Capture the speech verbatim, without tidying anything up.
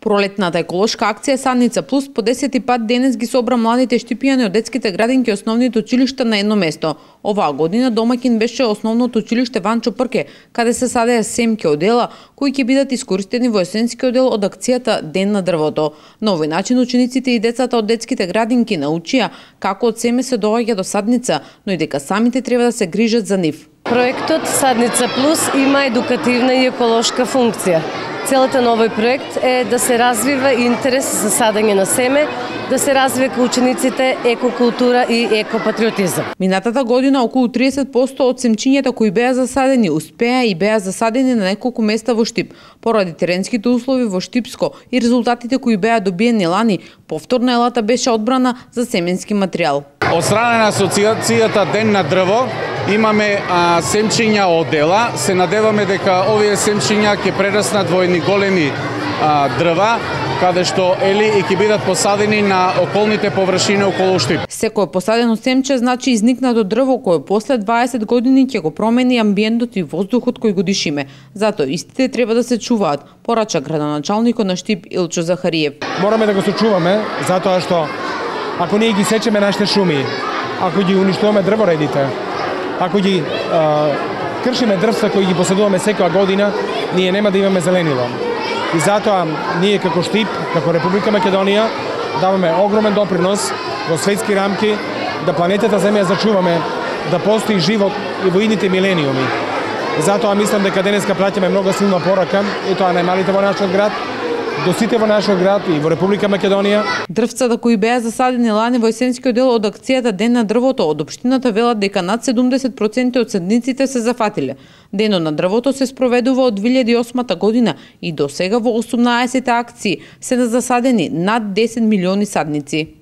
Пролетната еколошка акција Садница Плюс по десети пат денес ги собра младите штипијани од детските градинки и основните училишта на едно место. Оваа година домаќин беше основното училиште Ванчо Прке, каде се садеа семки одела кои ќе бидат искористени во есенскиот дел од акцијата Ден на дрвото. На овој начин учениците и децата од детските градинки научија како од семе се доаѓа до садница, но и дека самите треба да се грижат за нив. Проектот Садница Плюс има едукативна и еколошка функција. Целата на овој проект е да се развива интерес за садење на семе, да се развива учениците екокултура и екопатриотизам. Минатата година околу триесет проценти од семчињата кои беа засадени успеа и беа засадени на неколку места во Штип. Поради теренските услови во Штипско и резултатите кои беа добиени лани, повторно елата беше одбрана за семенски материјал. Од страна на асоциацијата Ден на дрво имаме а, семчиња одела. Се надеваме дека овие семчиња ќе прераснат во едни големи а, дрва, каде што ели и ќе бидат посадени на околните површини околу Штип. Секој посадено семче значи изникнато дрво кое после дваесет години ќе го промени амбиентот и воздухот кој го дишиме. Затоа истите треба да се чуваат, порача градоначалникот на Штип Илчо Захариев. Мораме да го сочуваме затоа што ако ние ги сечеме нашите шуми, ако ги уништуваме дрворедите, ако ги а, кршиме дрвства кои ги посадуваме секоја година, ние нема да имаме зеленило. И затоа ние како Штип, како Република Македонија, даваме огромен допринос во светски рамки да планетата Земја зачуваме, да постои живот и во идните милениуми. И затоа мислам дека денеска праќаме многу силна порака, и тоа најмалите во нашиот град, до сите во нашиот град и во Република Македонија. Дрвцата кои беа засадени лани во есенскиот дел од акцијата Ден на дрвото од општината велат дека над седумдесет проценти од садниците се зафатиле. Денот на дрвото се спроведува од две илјади и осма година и до сега во осумнаесет акции се засадени над десет милиони садници.